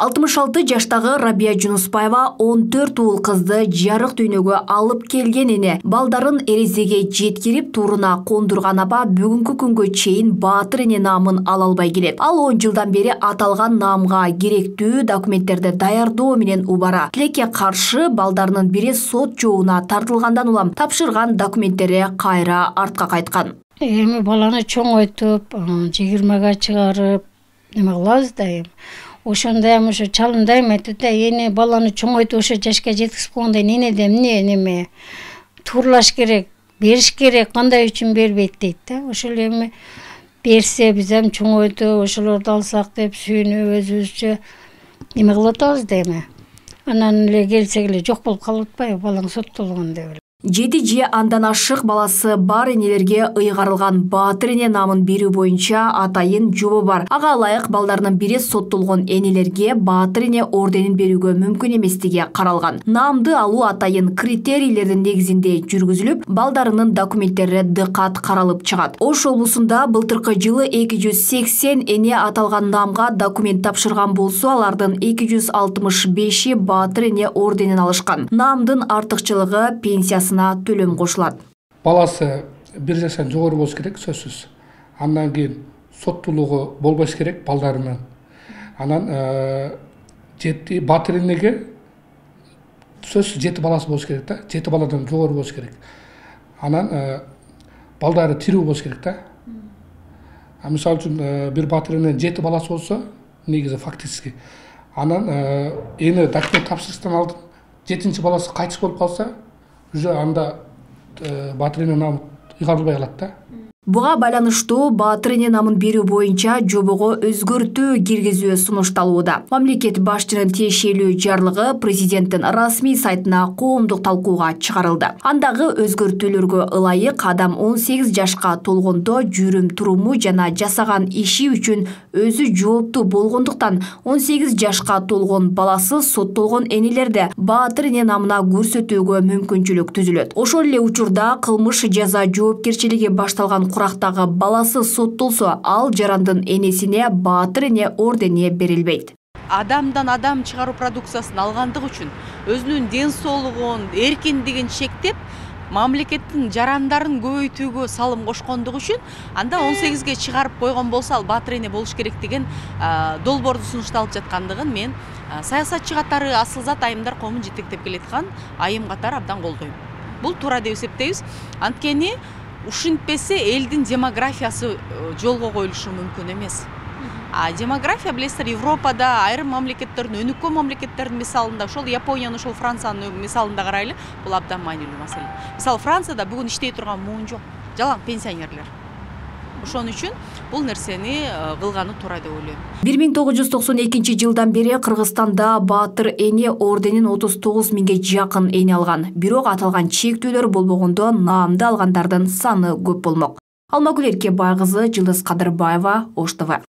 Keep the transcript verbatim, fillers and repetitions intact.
алтымыш алты жаштагы Рабия Жунуспаева он төрт уул кызды жарык дүйнөгө алып келген эне. Балдарын эрезеге жеткирип туруна кондурган аба бүгүнкү күнгө чейин Баатыр эне наамын ала албай келет. Ал он жылдан бери аталган наамга керектүү документтерди даярдоо менен убара. Тилекке каршы балдарынын бири сот жообуна тартылгандан улам тапшырган документтери кайра артка кайткан. Эми баланы чоңойтуп, жыйырмага чыгарып, неме кылабыз да эми. Ошондо эми ошо чалымдайм айтты да, эне баланы чоңойтуп ошо жашка жеткизип койгондо энеде эмне неме тууралаш керек, бериш керек, кандай үчүн бербейт дейт да. Ошол эми берсе биз эми чоңойтуп, ошолорду алсак деп сүйүнүп өзүбүзчө неме кылып атабыз да эми. Анан эле келсек эле жок болуп калып атпайбы, балаң соттолгон деп эле. Жети же андан ашык баласы бар энелерге ыйгарылган Баатыр эне наамын берүү боюнча атайын жобо бар. Ага ылайык балдарынын бири соттолгон энелерге Баатыр эне орденин берүүгө мүмкүн эместиги каралган. Наамды алуу атайын критерийлердин негизинде жүргүзүлүп, балдарынын документтери дыкат каралып чыгат. Ош облусунда былтыркы жылы эки жүз сексен эне аталган наамга документ тапшырган болсо, алардын эки жүз алтымыш беши Баатыр эне орденин алышкан. Наамдын артыкчылыгы пенсиясы төлөм кошулат. Баласы бир жаштан жогору болуш керек, сөзсүз. Андан кийин соттуулугу болбош керек балдарынын. Анан жети Баатыр энеге сөзсүз жети баласы болуш керек да, жети баладан жогору болуш керек. Анан балдары тирүү болуш керек да. А мисалы үчүн бир Баатыр эненин жети баласы болсо, негизи фактически. Анан эне документ тапшырыштан алдын жетинчи баласы кайтыш болуп калса, уже анда Баатыр эне наамы ыйгарылбай калат да. Буга байланыштуу Баатыр эне наамын берүү боюнча жобого өзгөртүү киргизүү сунушталууда. Мамлекет башчынын тиешелүү жарлыгы президенттин расмий сайтына коомдук талкууга чыгарылды. Андагы өзгөртүүлөргө ылайык адам он сегиз жашка толгондо жүрүм туруму жана жасаган иши үчүн өзү жооптуу болгондуктан он сегиз жашка толгон баласы соттолгон энелерде Баатыр эне наамына көрсөтүүгө мүмкүнчүлүк түзүлөт. Ошол эле учурда кылмыш жаза жоопкерчилиги башталган курактагы баласы соттолсо, ал жарандын энесине Баатыр эне ордени берилбейт. Адамдан адам чыгаруу продукциясын алгандык үчүн өзүнүн ден соолугун, эркиндигин чектеп, мамлекеттин жарандарын көбөйтүүгө салым кошкондугу үчүн анда он сегизге чыгарып койгон болсо, ал Баатыр эне болуш керек деген долбоорду сунушталып жаткандыгын мен саясатчы катары Асылзат Айымдар коомун жетектеп келаткан айым катары абдан колдойм. Бул туура деп эсептейбиз. Анткени ушинтпесе элдин демографиясы жолго коюлушу мүмкүн эмес. А демография билесиздер, Европада, айрым мамлекеттердин, өнүккөн мамлекеттердин мисалында, ошол Япониянын, ошол Франциянын мисалында карайлы, бул абдан маанилүү маселе. Мисалы Францияда бүгүн иштей турган муун жок, жалаң пенсионерлер. Ошон үчүн бул нерсени кылганы туура деп ойлойм. бир миң тогуз жүз токсон экинчи жылдан бери Кыргызстанда Баатыр эне орденин отуз тогуз миңге жакын эне алган. Бирок аталган чектөөлөр болбогондо наамды алгандардын саны көп болмок. Алмагүл Эркебай кызы, Жылдыз Кадырбаева, Ош ТВ.